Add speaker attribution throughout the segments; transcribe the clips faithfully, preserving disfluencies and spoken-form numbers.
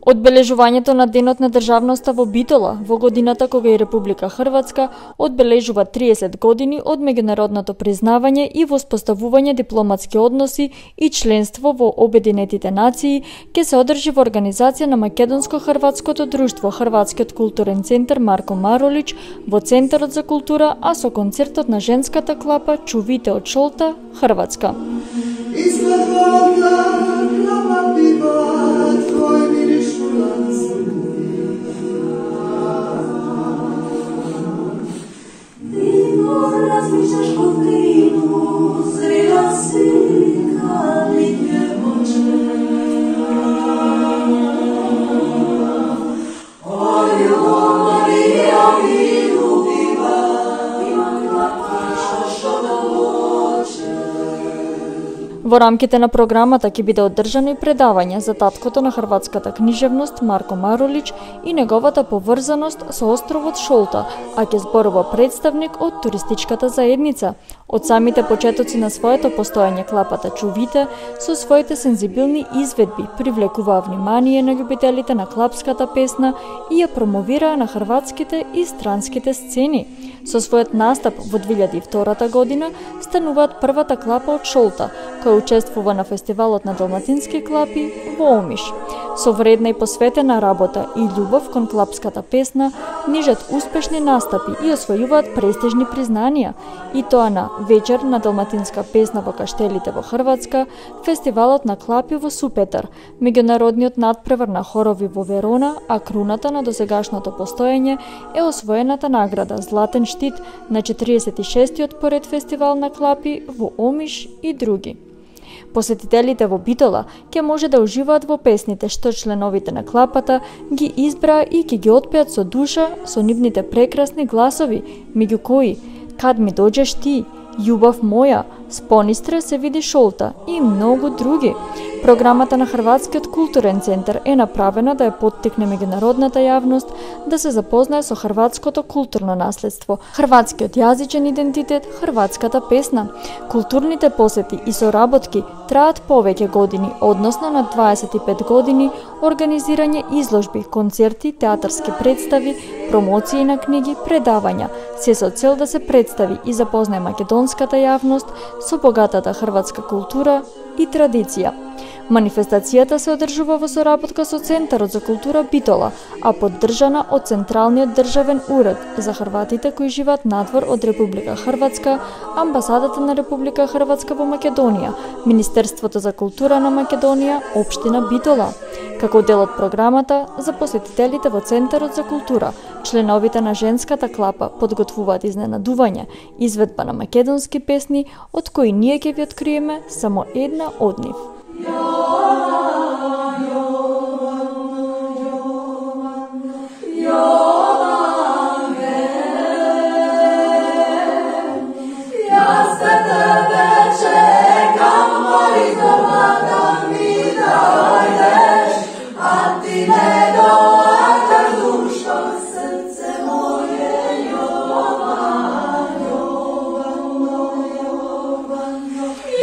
Speaker 1: Одбележувањето на Денот на државноста во Битола во годината кога и Република Хрватска одбележува триесет години од меѓународното признавање и воспоставување дипломатски односи и членство во Обединетите нации, ќе се одржи во организација на Македонско-хрватското друштво Хрватскиот културен центар Марко Маролич во Центарот за култура, а со концертот на женската клапа Чувите од Шолта, Хрватска.
Speaker 2: Razmišljaš po vinu, zrela si kad li djevojče. O ljubavi ja mi ljubiva, imam klapkaša što da hoće.
Speaker 1: Во рамките на програмата ќе биде одржано и предавање за таткото на хрватската книжевност Марко Маролич и неговата поврзаност со островот Шолта, а ќе зборува представник од туристичката заедница. Од самите почетоци на своето постоење клапата Чувите со своите сензибилни изведби привлекуваа внимание на љубителите на клапската песна и ја промовираа на хрватските и странските сцени. Со својот настап во две илјади и втора година стануваат првата клапа од Шолта, која учествува на фестивалот на далматински клапи во Омиш. Со вредна и посветена работа и љубов кон клапската песна, нижат успешни настапи и освојуваат престижни признанија, и тоа на Вечер на далматинска песна во Каштелите во Хрватска, фестивалот на клапи во Супетар, меѓународниот надпревар на хорови во Верона, а круната на досегашното постоење е освоената награда Златен штит на четириесет и шестиот поред фестивал на клапи во Омиш и други. Посетителите во Битола ќе може да уживаат во песните што членовите на клапата ги избраа и ќе ги отпеат со душа со нивните прекрасни гласови, меѓу кои "Кад ми доđеш ти", "Љубав моја", "Спонистре се види Шолта" и многу други. Програмата на Хрватскиот културен центар е направена да ја поттикне меѓународната јавност да се запознае со хрватското културно наследство, хрватскиот јазичен идентитет, хрватската песна. Културните посети и соработки траат повеќе години, односно на дваесет и пет години организирање изложби, концерти, театарски представи, промоции на книги, предавања, се со цел да се представи и запознае македонската јавност со богатата хрватска култура и традиција. Манифестацијата се одржува во соработка со Центарот за култура Битола, а поддржана од Централниот државен уред за хрватите кои живеат надвор од Република Хрватска, Амбасадата на Република Хрватска во Македонија, Министерството за култура на Македонија, Општина Битола. Како дел од програмата, за посетителите во Центарот за култура, членовите на женската клапа подготвуваат изненадување, изведба на македонски песни, од кои ние ќе ви откриеме само една од нив.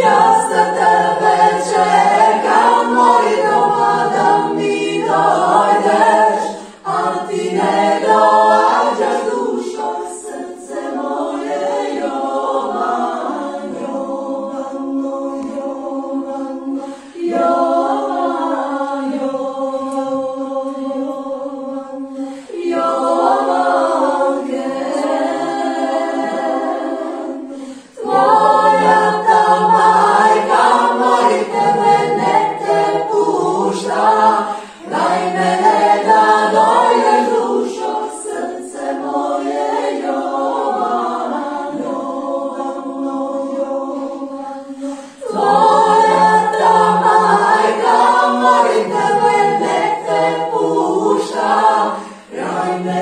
Speaker 2: Ja za tebe čekam,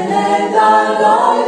Speaker 2: ne dal